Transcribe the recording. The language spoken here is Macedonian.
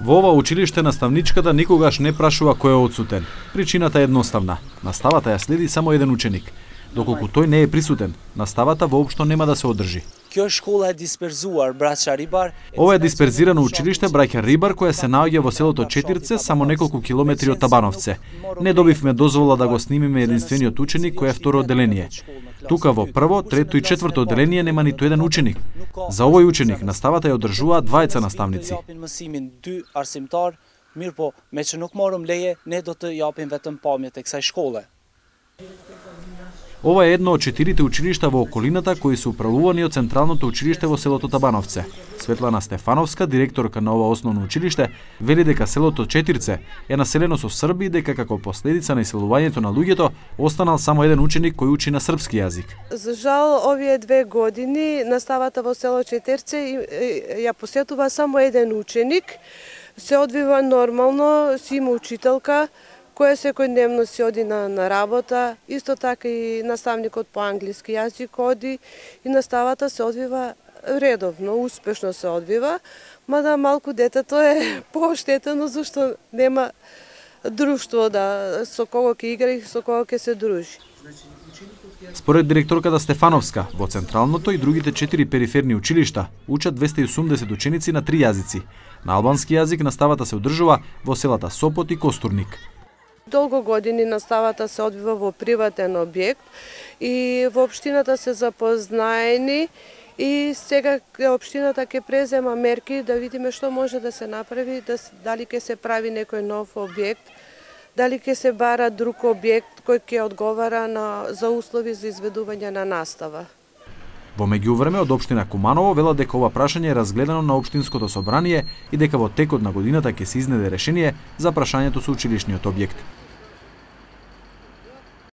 Во ова училиште наставничката никогаш не прашува кој е отсутен. Причината е едноставна. Наставата ја следи само еден ученик. Доколку тој не е присутен, наставата воопшто нема да се одржи. Ова е дисперзирано училиште Браќа Рибар кое се наоѓа во селото Четирце, само неколку километри од Табановце. Не добивме дозвола да го снимиме единствениот ученик кој е второ одделение. Тука во прво, трето и четврто одделение нема ниту еден ученик. За овој ученик наставата ја одржуваат двајца наставници. Ова е едно од 4 училишта во околината кои се управувани од Централното училиште во селото Табановце. Светлана Стефановска, директорка на ова основно училиште, вели дека селото Четирце е населено со срби и дека како последица на иселувањето на луѓето останал само еден ученик кој учи на српски јазик. За жал, овие 2 години наставата во село Четирце ја посетува само еден ученик. Се одвива нормално, си има учителка која секојдневно си оди на работа, исто така и наставникот по англиски јазик оди и наставата се одвива редовно, успешно се одвива, мада малку детето е пооштетено зашто нема друштво со кого ќе игра и со кого ќе се дружи. Според директорката Стефановска, во Централното и другите 4 периферни училишта учат 280 ученици на 3 јазици. На албански јазик наставата се одржува во селата Сопот и Костурник. Долго години наставата се одвива во приватен објект и во општината се запознаени и сега општината ќе презема мерки да видиме што може да се направи, дали ќе се прави некој нов објект, дали ќе се бара друг објект кој ќе одговара за услови за изведување на настава. Во меѓувреме од општина Куманово велат дека ова прашање е разгледано на општинското собрание и дека во текот на годината ќе се изнеде решение за прашањето со училишниот објект.